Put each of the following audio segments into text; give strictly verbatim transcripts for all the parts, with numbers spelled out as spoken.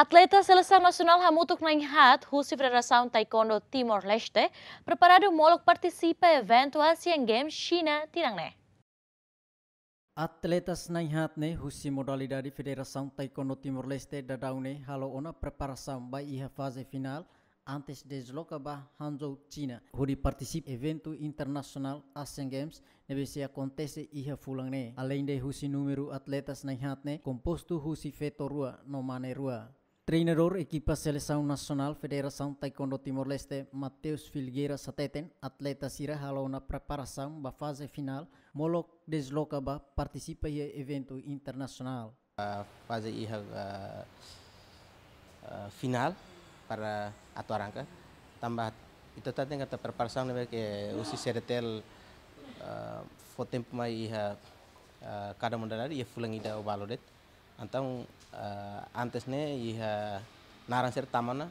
Atleta selesaun nasionál hamutuk na'in-haat husi Federasaun Taekwondo Timor-Leste preparadu molok partisipa eventu Asian Games Xina tinan ne'e. Atletas na'in-haat ne'e husi modalidade Federasaun Taekwondo Timor-Leste daudaun ne'e halo ona preparasaun ba iha faze finál antes dezloka ba Hangzhou, Xina, hodi partisipa eventu internasionál Asian Games ne'ebé sei akontese iha fulan ne'e. Aleinde husi númeru atletas na'in-haat ne'e kompostu husi feto rua no mane rua. Treinadór ekipa selesaun nasionál Federasaun Taekwondo Timor-Leste, Mateus Filgueiras hateten, atleta sira halo ona preparasaun ba faze finál molok dezloka ba partisipa iha eventu internasionál. Ah, faze iha, ah, ah, finál para atu arranka. Tanba ita hatene katak preparasaun ne'ebé ke husi CDTL, ah, fó tempu mai iha, ah, kada modalidade iha fulan ida ou balu de'it. Entaun, ah, antes ne'e iha naran sira tama ona,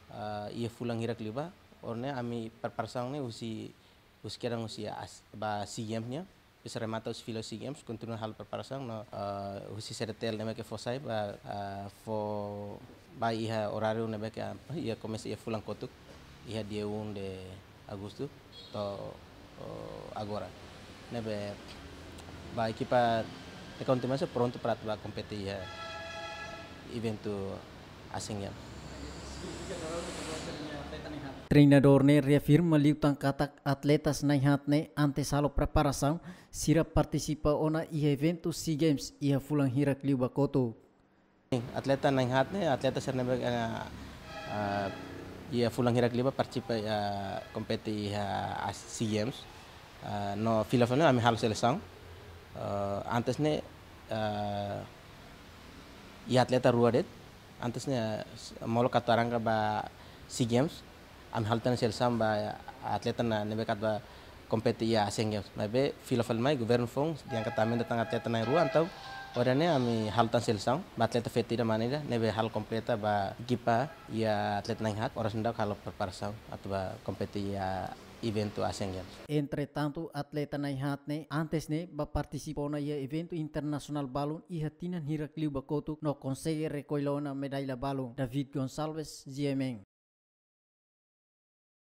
ah, iha fulan hirak liubá, ohin ne'e ami preparasaun ne'e husi, husi kedan husi as-, ba SEA Games nian, depois remata husi fila SEA Games, kontinua halo preparasaun no, ah, husi CDTL ne'ebé ke fó sai ba, ah, fó ba iha oráriu ne'ebé ke, ah, iha komesa iha fulan kotuk, iha dia um de agostu to'o, oh, agora. Ne'ebé ba ekipa Taekwondo Timor-Leste prontu para atu ba kompete iha eventu Asian Games. Treinadór ne'e reafirma liután katak atletas na'in-haat ne'e antes halo preparasaun, sira partisipa ona iha eventu SEA Games iha fulan hirak liubá kotuk. Atleta na'in-haat ne'e, atleta sira ne'ebé, eh, eh, iha fulan hirak liubá partisipa, eh, kompete iha As-, SEA Games. Eh, no fila fali ami halo selesaun. Eh, antes ne'e, eh, iha atleta rua de'it. Antes ne'e, s-, molok atu arranka ba SEA Games, ami halo tan selesaun ba atleta na ne'ebé ke atu ba kompete iha Asian Games. Maibé fila fali mai governu foun, di'ak katak aumenta tan atleta na'in-rua, entaun ohin ne'e ami halo tan selesaun ba atleta feto ida mane ida, ne'ebé halo kompleta ba ekipa iha atleta na'in-haat, oras ne'e daudaun halo preparasaun atu ba kompete iha eventu Asian Games. Entretantu, atleta na'in-haat ne'e antes ne'e ba partisipa ona iha eventu internasionál balun iha tinan hirak liubá kotuk no konsege rekolla ona medalla balun. David Gonçalves, GMN.